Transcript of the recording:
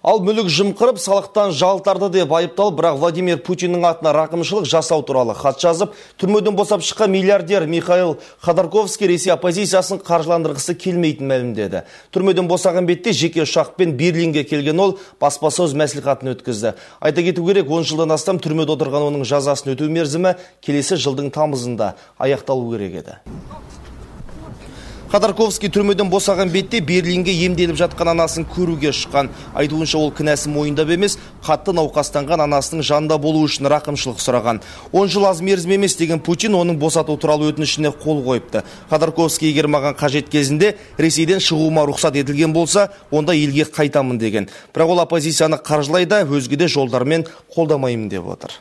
Ал мүлік жымқырып, салықтан жалтарды деп айыпталып, бірақ Владимир Путиннің атына рақымшылық жасау туралы хат жазып, түрмеден босап шыққан миллиардер Михаил Ходорковский Ресей оппозициясын қаржыландырғысы келмейтін мәлімдеді. Түрмеден босаған бетте жеке ұшақпен Берлинге келген ол баспасөз мәслихатын өткізді. Айта кету керек, 10 жылдан астам түрмеде отырған оның жазасын өтеу мерзімі келесі жылдың тамызында аяқталу керек еді. Ходорковский түрмеден босаған бетте Берлинге емделіп жатқан анасын көруге шыққан. Айтуынша ол кінәсін мойындап емес, қатты науқастанған анасының жанында болу үшін рақымшылық сұраған. 10 жыл аз мерзім емес деген Путин оның босату туралы өтінішіне қол қойыпты. Ходорковский егер маған қажет кезінде Ресейден шығуыма рұқсат етілген болса, онда елге қайтамын деген. Бірақ ол оппозицияны қаржылайды, өзге де жолдармен қолдамаймын деп отыр.